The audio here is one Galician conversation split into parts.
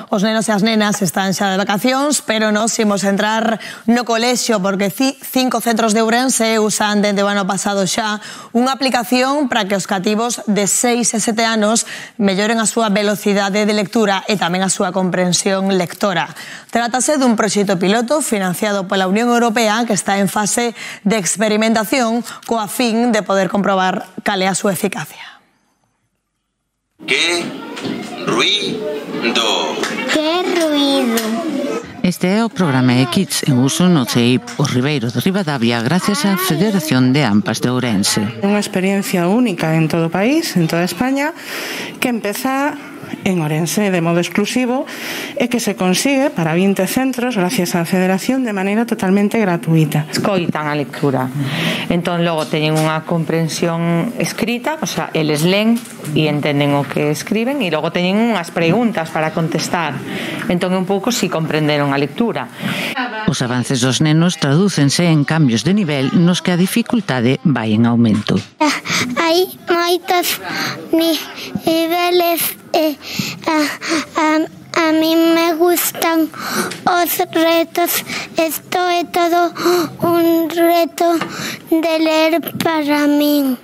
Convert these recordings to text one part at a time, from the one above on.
Os nenos e as nenas están xa de vacacións, pero nos imos entrar no colexio porque 5 centros de Ourense usan dende o ano pasado xa unha aplicación para que os cativos de 6 e 7 anos melloren a súa velocidade de lectura e tamén a súa comprensión lectora. Trátase dun proxecto piloto financiado pola Unión Europea que está en fase de experimentación coa fin de poder comprobar cal é a súa eficacia. ¡Qué ruido! ¡Qué ruido! Este é o programa eKids en uso no CEIP o Ribeiro de Ribadavia gracias á Federación de AMPAs de Ourense. Unha experiencia única en todo o país, en toda España, que empeza en Ourense de modo exclusivo e que se consigue para 20 centros gracias á Federación de maneira totalmente gratuita. Escoitan a lectura, entón logo teñen unha comprensión escrita, o sea, eles len e entenden o que escriben e logo teñen unhas preguntas para contestar, entón un pouco si comprenderon a lectura. Os avances dos nenos tradúcense en cambios de nivel nos que a dificultade vai en aumento. Hai moitos niveles e a mí me gustan os retos. Esto é todo un reto de ler para min.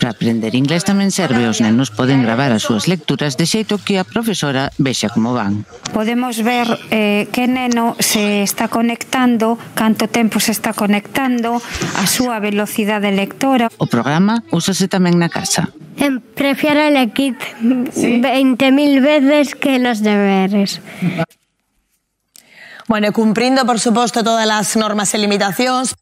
Para aprender inglés tamén serve, os nenos poden gravar as súas lecturas de xeito que a profesora vexa como van. Podemos ver que neno se está conectando, canto tempo se está conectando, a súa velocidade lectora. O programa úsase tamén na casa. Prefiero el kit 20.000 veces que los deberes. Bueno, cumprindo, por suposto, todas as normas e limitacións.